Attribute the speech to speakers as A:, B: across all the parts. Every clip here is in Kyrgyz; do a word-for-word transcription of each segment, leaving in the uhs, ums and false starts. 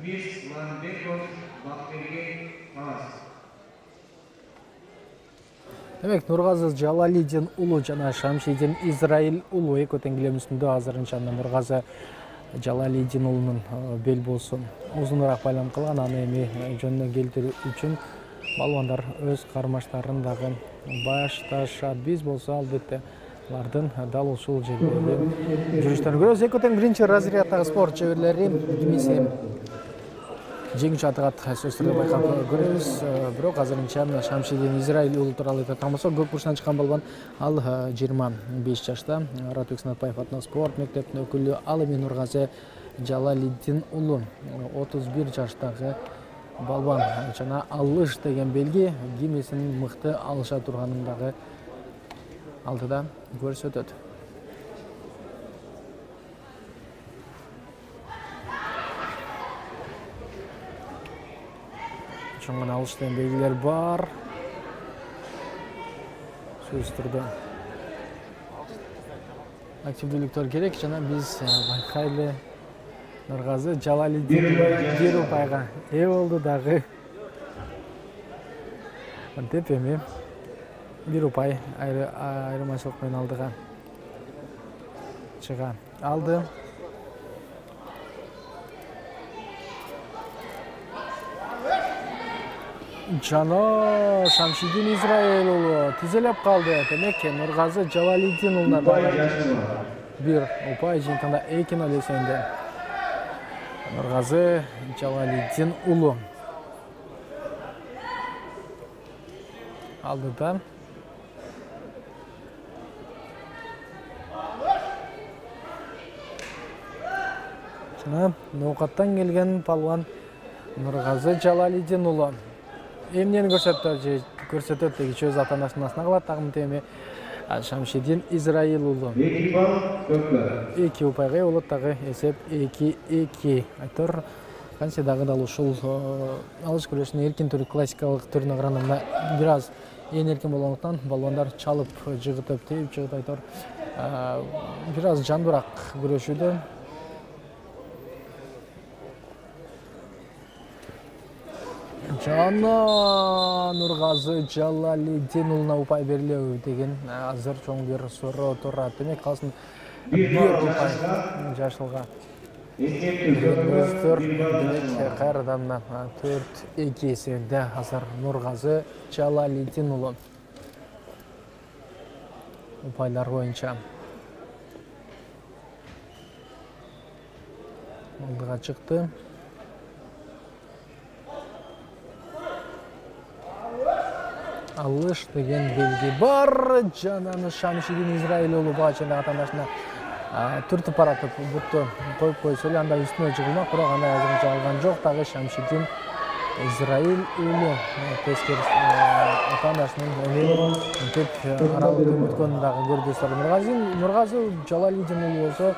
A: Мирсманбеков Бакберген Талас.
B: Демек Нургазы Жалалидин уулу жана Шамшидин Израиль уулу экөө теңгелемүсүндө азырынча Нургазы Жалалидин уулунун бел болсу узунураак байлам кылган, аны эми жөнүнө келтирүү үчүн балбандар өз кармаштарын дагы башташат. Биз болсо албетте алардын дал ушул жердеги жүрүштөрүн көрөбүз. Экөө тең биринчи разряддагы спорт чеберлери кимиси жеңүүчү атыгат сөздөрдү байкап көрөбүз. Бирок азырынча Шамшидин Израиль уулу тууралуу айтат болсок, көк бурчтан чыккан балбан ал жыйырма беш жашта Аратбек Сынатбаев атындагы спорт мектебинин өкүлү. Ал эми Нургазы Жалалидин уулу отуз бир жаштагы балбан жана алыш деген белги кимисин мыкты алыша турганын дагы алдыда көрсөтөт. Чоң алыш деген белгилер бар. Сөзсүз түрдө активдүүлүктөр керек жана биз байкайлы Нургазы Жалалидин бир упайга ээ болду дагы. Антип эми бир упай айырмачылык менен алдыга чыга алды. Жана Шамшидин Израиль уулу тизелеп калды. Демек Нургазы Жалалидин уулуна бир упай жыйынтыгында эки ноль эсебинде Нургазы Жалалидин уулу алдыда. Жана ноокаттан келген палван Нургазы Жалалидин уулу эмнени көрсөтөт көрсөтөт дегичи өз ата-анасынын астына калат. Дагы эми Шамшидин Израиль уулу эки упайга ээ болот, дагы эсеп эки эки. Айтор канча дагы дал ушул алыш күрөшүнүн эркин түрү классикалык түрүнө караганда бир аз ээн эркин болгондуктан балбандар чалып жыгытып тийип жыгыт айтор бир аз жандуураак күрөшүүдө. Жана Нургазы Жалалидин уулуна упай берилеби деген азыр чоң бир суроо турат. Демек калсын бир упай жашылга. Өздөр демек кайрадан төрт эки эсебинде азыр Нургазы Жалалидин уулу упайлар боюнча алдыга чыкты. Алыш деген белги бар. Жана Шамшидин Израиль уулу бачында атандашына түртүп баратып бутту коюп койсо эле анда үстүнө жыгылмак, бирок андай азырынча алган жок. Дагы Шамшидин Израиль уулу тескери атандашынын мынтип аралык өткөнүн дагы көрдүсүр. Нургазы Нургазы Жалалидин уулу болсо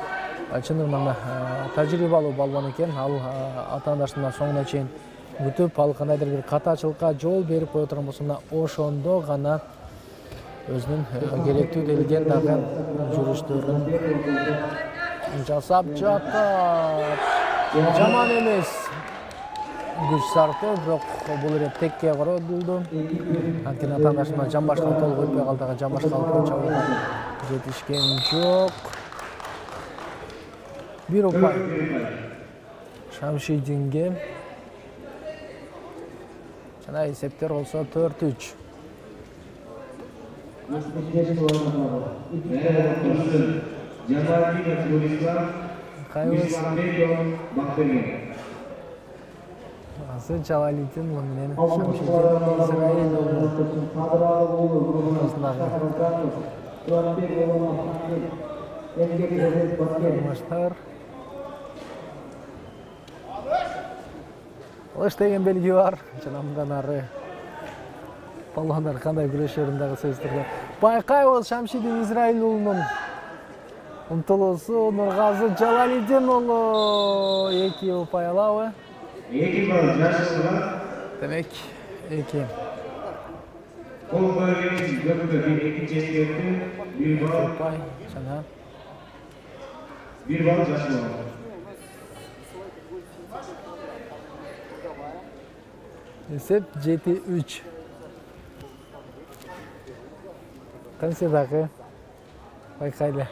B: чындыгында тажрыйбалуу балбан экен. Ал атандашына соңуна чейин күтүп, ал кандайдыр бир катачылыкка жол берип кое турган болсо мына ошондо гана өзүнүн керектүү делген дагы жүрүштөрүн жасап жатат. Жаман эмес күч сарптоо, бирок бул ирет текке коротулду. Анткени атандашына жамбашка толук өтпөй калды, дагы жамбашка алып чабууга жетишкен жок. Бир упай Шамшидинге. Жана эсептер болсо төрт үч. Азыр Жалалидин уулу менен Шамшидин Израиль уулу алыш деген белги бар. Жана мындан ары балбандар кандай күрөшөрүн дагы сөздөрдө байкайбыз. Шамшидин Израиль уулунун умтулуусу. Нургазы Жалалидин уулу эки упай алабы?
A: эки балл жашылга.
B: Демек эки.
A: Кол койгон үчүн көпкө бир экинчи эскертүү, бир балл
B: упай жана
A: бир балл жашылга.
B: Эсеп жети үч. Кантсе дагы байкайлы.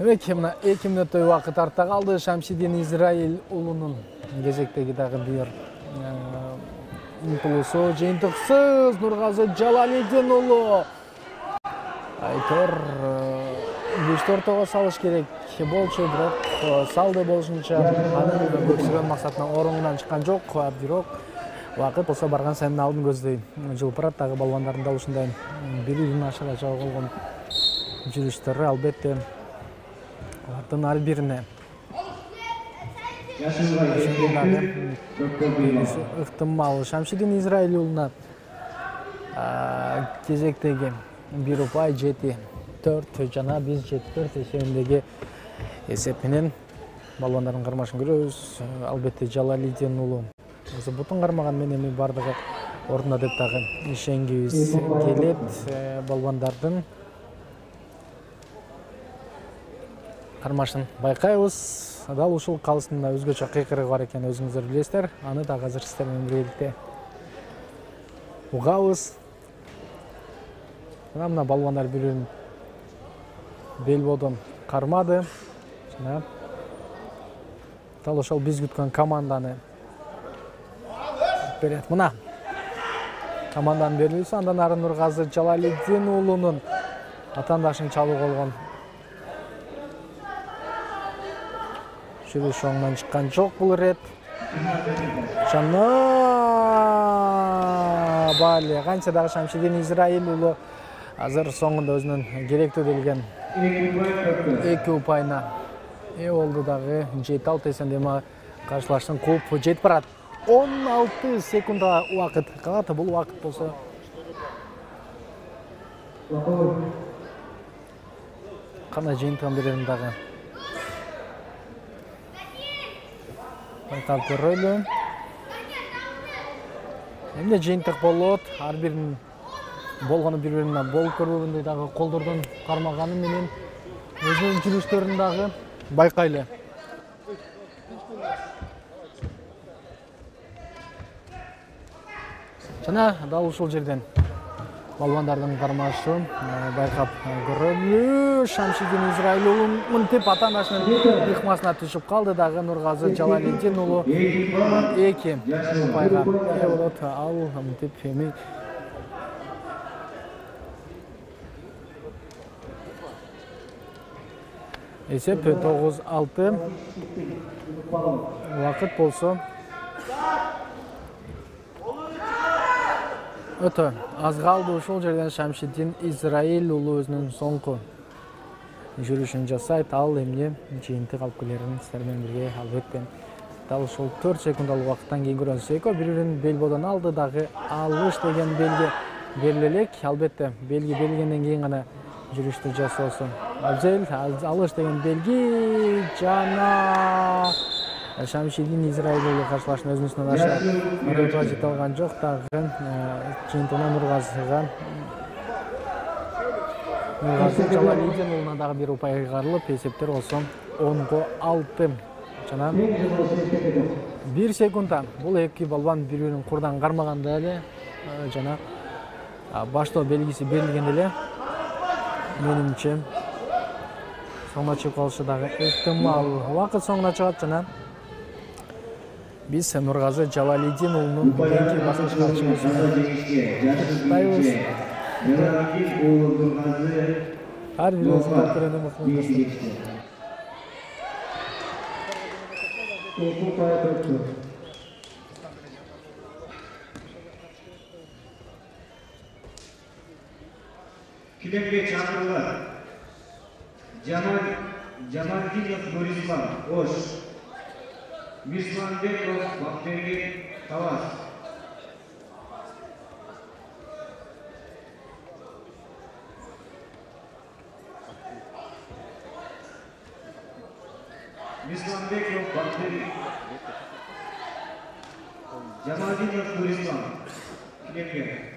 B: Эки мына эки мүнөттөй убакыт артта калды. Шамшидин Израиль уулунун кезектеги дагы бир умтулуусу жыйынтыксыз Нургазы Жалалидин уулу. Айтор бешти ортого салыш керек болчу, бирок салды болушунча анын көксөгөн максатынан оруңунан чыккан жок. Бирок убакыт болсо барган сайын алдын көздөй жылпырат. Дагы балбандардын да ушундай бир-бирин ашыга жагып алган жүрүштөрү албетте алардын ар бирине ыктымал. Шамшидин Израиль уулуна кезектеги бир упай жети төрт жана биз жети төрт эсебиндеги эсеп менен балбандардын кармашын көрөбүз. Албетте Жалалидин уулу бутун кармаган менен эми бардыгы ордуна деп дагы ишенгибиз келет. Балбандардын кармашын байкайбыз. Дал ушул калысында өзгөчө кыйкырыгы бар экенин өзүңүздөр билесиздер. Аны дагы азыр сиздер менен биргеликте угабыз. Мына балбандар бири-бирин белбоодон кармады. Жана дал ошол биз күткөн команданы берет. Мына команданын берүүсү. Андан ары Нургазы Жалалидин уулунун атаандашын чалуу болгон. Жүрүш оңунан чыккан жок бул ирет. Жана бали канча дагы Шамшидин Израиль уулу азыр соңунда өзүнүн керектүү делген эки упайына ээ болду. Дагы жети алты эсендеме каршылаштын кууп жетип барат. он алты секундга убакыт калат. Бул убакыт болсо кандай жыйынтыгын берерин дагы байкап көрөлү. Эмне жыйынтык болот? Ар биринин болгону бири-бирине болуп көрбөгөндөй дагы колдордон кармаганы менен өзүнүн жүрүштөрүн дагы байкайлы. Жана дал ушул жерден балбандардын кармашын байкап көрөлү. Шамшидин Израиль уулу мынтип атаандашынын ыкмасына түшүп калды. Дагы Нургазы Жалалидин уулу эки упайга ээ болот. Ал мынтип эми эсеп тогуз алты. Убакыт болсо өтө аз калды. Ушул жерден Шамшидин Израиль уулу өзүнүн соңку жүрүшүн жасайт. Ал эмне жыйынтык алып келерин сиздер менен бирге албетте дал ушул төрт секундалык убакыттан кийин көрөбүз. Экөө бири-бирин белбоодон алды. Дагы алыш деген белги бериле элек. Албетте белги берилгенден кийин гана жүрүштү жасоосу абзел. Алыш деген белги жана Шамшидин Израиль уулу каршылашын өзүнүн үстүнөн аша марапатка жете алган жок. Дагы жыйынтыгына Нургазыга Нургазы Жалалидин уулуна дагы бир упай кыйгарылып, эсептер болсо онго алты. Жана бир секундда бул эки балбан бири-бирин курдан кармаганда эле жана баштоо белгиси берилгенде эле менимче соңуна чыгып калышы дагы ыктымал. Убакыт соңуна чыгат жана биз Нургазы Жалалидин уулунун кийинки баскычка чыгышын ар бирибиздин көргөнү мыкты.
A: Килемге чакырылат. Жамалдинов Борислав Ош, Мисманбеков Бакберген Талас. Мисламбеков Бактери, Жамалдинов Нурислам, Килемге.